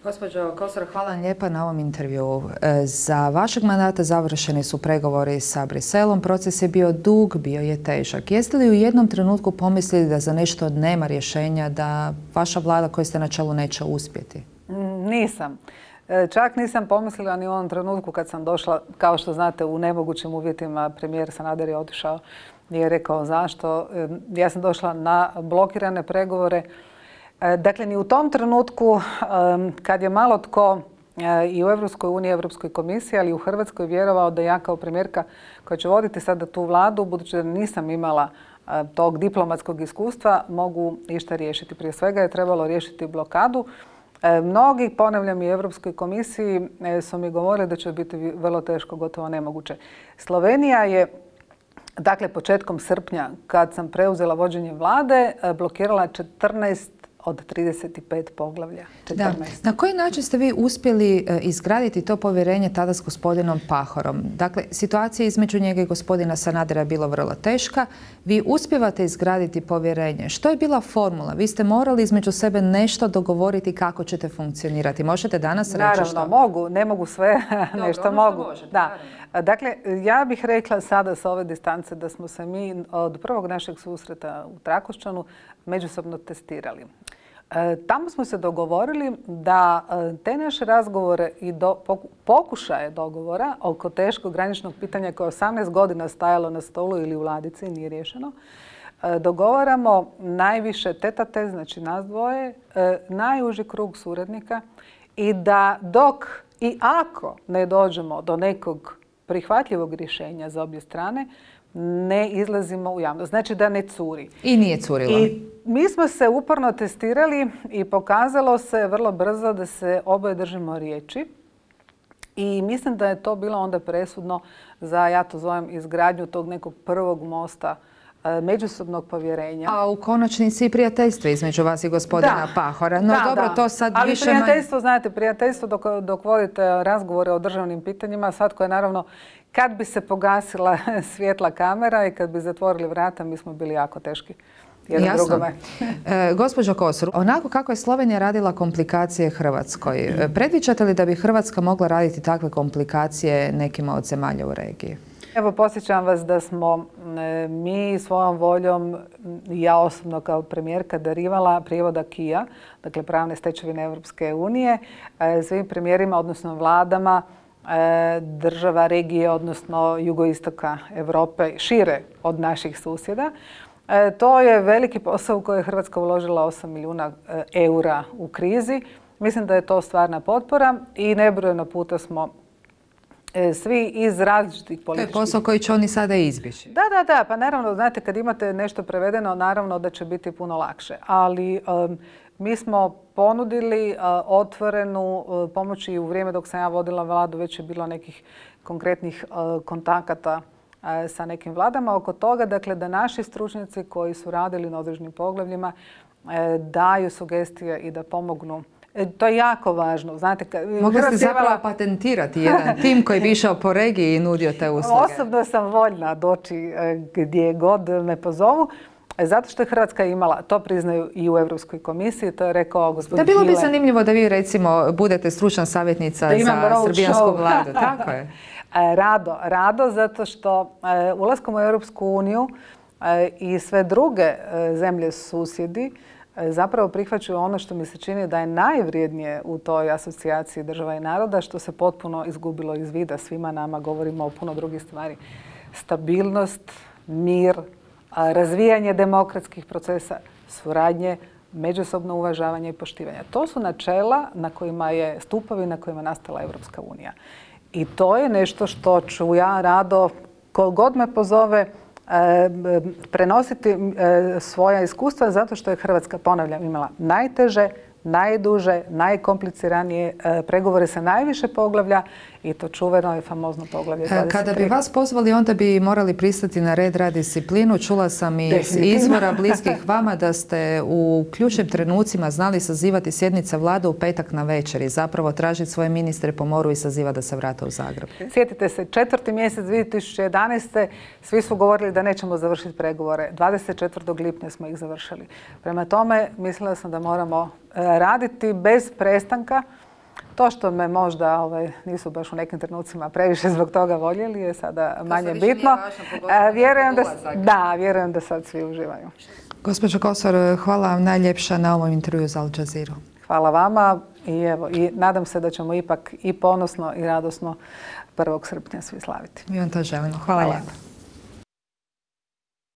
Gospođo Kosor, hvala vam lijepa na ovom intervjuu. Za vašeg mandata završeni su pregovori sa Briselom. Proces je bio dug, bio je težak. Jeste li u jednom trenutku pomislili da za nešto nema rješenja, da vaša vlada koju ste na čelu neće uspjeti? Nisam. Čak nisam pomislila ni u onom trenutku kad sam došla, kao što znate, u nemogućim uvjetima. Premijer Sanader je otišao, nije rekao zašto. Ja sam došla na blokirane pregovore. Dakle, ni u tom trenutku kad je malo tko i u Europskoj uniji, Europskoj komisiji, ali i u Hrvatskoj vjerovao da ja kao premijerka koja će voditi sada tu vladu, budući da nisam imala tog diplomatskog iskustva, mogu išta riješiti. Prije svega je trebalo riješiti blokadu. Mnogi, ponavljam i Europskoj komisiji, su mi govorili da će biti vrlo teško, gotovo nemoguće. Slovenija je, dakle, početkom srpnja, kad sam preuzela vođenje vlade, blokirala 14 od 35 poglavlja. 14. Da. Na koji način ste vi uspjeli izgraditi to povjerenje tada s gospodinom Pahorom? Dakle, situacija između njega i gospodina Sanadera je bila vrlo teška. Vi uspijevate izgraditi povjerenje. Što je bila formula? Vi ste morali između sebe nešto dogovoriti kako ćete funkcionirati. Možete danas reći što? Naravno, mogu. Ne mogu sve, dobro, nešto mogu. Da. Dakle, ja bih rekla sada sa ove distance da smo se mi od prvog našeg susreta u Trakošćanu međusobno testirali. Tamo smo se dogovorili da te naše razgovore i pokušaje dogovora oko teškog graničnog pitanja koje je 18 godina stajalo na stolu ili u ladici i nije riješeno, dogovaramo najviše tete, znači nas dvoje, najuži krug suradnika i da dok i ako ne dođemo do nekog prihvatljivog rješenja za obje strane, ne izlazimo u javnost. Znači da ne curi. I nije curilo. I mi smo se uporno testirali i pokazalo se vrlo brzo da se oboje držimo riječi. I mislim da je to bilo onda presudno za, ja to zovem, izgradnju tog nekog prvog mosta međusobnog povjerenja. A u konačnici i prijateljstvo između vas i gospodina Pahora. No dobro, to sad ali više prijateljstvo, znate, prijateljstvo dok vodite razgovore o državnim pitanjima, svatko je naravno, kad bi se pogasila svjetla kamera i kad bi zatvorili vrata, mi smo bili jako teški. Jasno. Gospođo Kosor, onako kako je Slovenija radila komplikacije Hrvatskoj, predviđate li da bi Hrvatska mogla raditi takve komplikacije nekima od zemalja u regiji? Evo, podsjećam vas da smo mi svojom voljom, ja osobno kao premijerka, darivala prijevod acquisa, dakle pravne stečevine Europske unije, svim premijerima, odnosno vladama država regije, odnosno jugoistoka Europe, šire od naših susjeda. To je veliki posao u koji je Hrvatska uložila 8 milijuna eura u krizi. Mislim da je to stvarna potpora i nebrojeno puta smo svi iz različitih političkih... To je posao koji će oni sada izbjeći. Da, pa naravno, znate, kad imate nešto prevedeno, naravno da će biti puno lakše. Ali mi smo ponudili otvorenu pomoć i u vrijeme dok sam ja vodila vladu već je bilo nekih konkretnih kontakata sa nekim vladama oko toga, dakle da naši stručnjaci koji su radili na određenim poglavljima daju sugestije i da pomognu. To je jako važno. Znate, mogli ste zapravo patentirati jedan tim koji bi išao po regiji i nudio te usluge. Osobno sam voljna doći gdje god me pozovu. Zato što je Hrvatska imala, to priznaju i u Europskoj komisiji, to je rekao gospodin Hile. Da, bilo bi zanimljivo da vi recimo budete stručna savjetnica za srbijansku vladu. Tako je. Rado, zato što ulaskom u Europsku uniju i sve druge zemlje susjedi zapravo prihvaćaju ono što mi se čini da je najvrijednije u toj asocijaciji država i naroda, što se potpuno izgubilo iz vida svima nama, govorimo o puno drugih stvari. Stabilnost, mir, razvijanje demokratskih procesa, suradnje, međusobno uvažavanje i poštivanje. To su načela na kojima je stupovi na kojima je nastala Europska unija. I to je nešto što ću ja rado, ko god me pozove, prenositi svoja iskustva zato što je Hrvatska, ponavljam, imala najteže, najduže, najkompliciranije pregovore sa najviše poglavlja i to čuveno je famozno poglavlje 23. Kada bi vas pozvali, onda bi morali pristati na red, rad, disciplinu. Čula sam iz izvora bliskih vama da ste u ključnim trenucima znali sazivati sjednice vlade u petak na večer i zapravo tražiti svoje ministre po moru i sazivati da se vrate u Zagreb. Sjetite se, 4. mjesec 2011. svi su govorili da nećemo završiti pregovore. 24. lipnja smo ih završili. Prema tome, mislila sam da moramo raditi bez prestanka To što me možda nisu baš u nekim trenucima previše zbog toga voljeli je sada manje bitno. Vjerujem da sad svi uživaju. Gospođo Kosor, hvala vam najljepša na ovom intervju za Al Jazeera. Hvala vama i nadam se da ćemo ipak i ponosno i radosno 1. srpnja svi slaviti. Mi vam to želimo. Hvala lijepo.